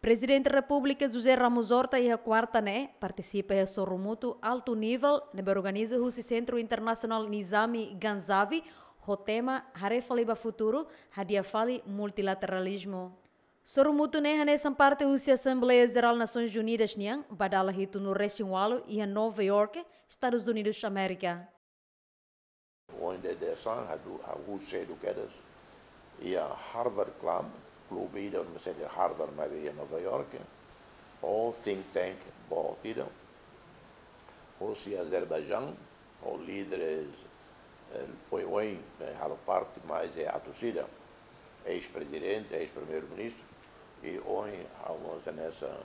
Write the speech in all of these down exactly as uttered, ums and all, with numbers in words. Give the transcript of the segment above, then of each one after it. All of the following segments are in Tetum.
Prezidente Repúblika José Ramos Horta iha kuarta ne'e partisipa iha sorumutu altu nivel ne'ebé organiza husi Sentru Internasionál Nizami Ganjavi ho tema Haree Fali ba Futuru, Hadi'a Fali Multilateralizmu. Sorumutu ne'e hanesan parte husi Asembleia Jerál Nasoins Unidas nian ba dala hitunulu resin ualu iha Nova York, Estadus Unidus Amérika. Ohin dadeer-saan ha'u, ha'u sedu kedas iha Harvard Club, klube ida Universidade Harvard maibé iha Nova York, ho think tank boot ida hosi Azerbaijaun, ho líderes, eh, oioin, eh, halo parte mais é atus ida, eis-prezidente, eis-primeiru-ministru, i ohin ha'u mós hanesan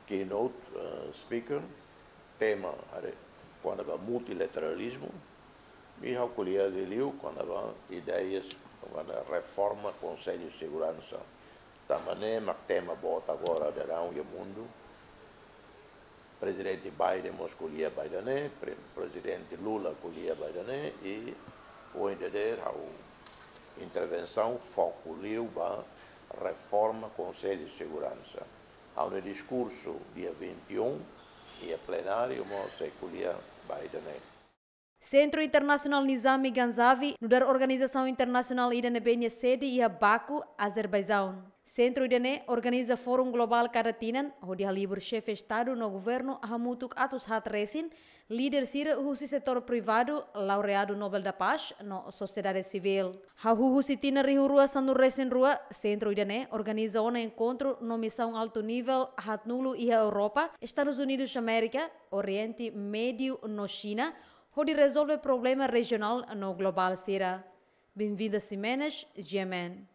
keynote, eh, speaker, tema haree kona-ba multilateralizmu, i ha'u ko'alia liuliu kona-ba ideias kona-ba reforma Konsellu Seguransa. Tanba ne'e mak tema boot agora daudaun iha mundu. Prezidente Biden mós ko'alia ba ida-ne'e, Pre-, Prezidente Lula ko'alia ba ida-ne'e, i ohin dadeer ha'u intervensaun foku liu ba reforma Konsellu Seguransa. Ha'u-nia diskursu dia vinte e um iha plenáriu mós sei ko'alia ba ida-ne'e. Sentru Internasionál Nizami Ganjavi nu'udar organizasaun internasionál ida ne'ebé nia sede iha Baku, Azerbaijaun. Sentru ida-ne'e organiza forum globál kada tinan, hodi halibur xefe Estadu no Governu hamutuk atus haat resin, líder sira husi setór privadu, laureadu Nobel da Paz, no sosiedade sivíl. Hahú husi tinan rihun rua sanulu resin rua, sentru ida-ne'e organiza ona enkontru no misaun altu nivel haatnulu iha Europa, Estadus Unidus Amérika, Oriente Médiu no Xina, hodi rezolve problema rejionál no globál sira. Benvinda Ximenes, G M N.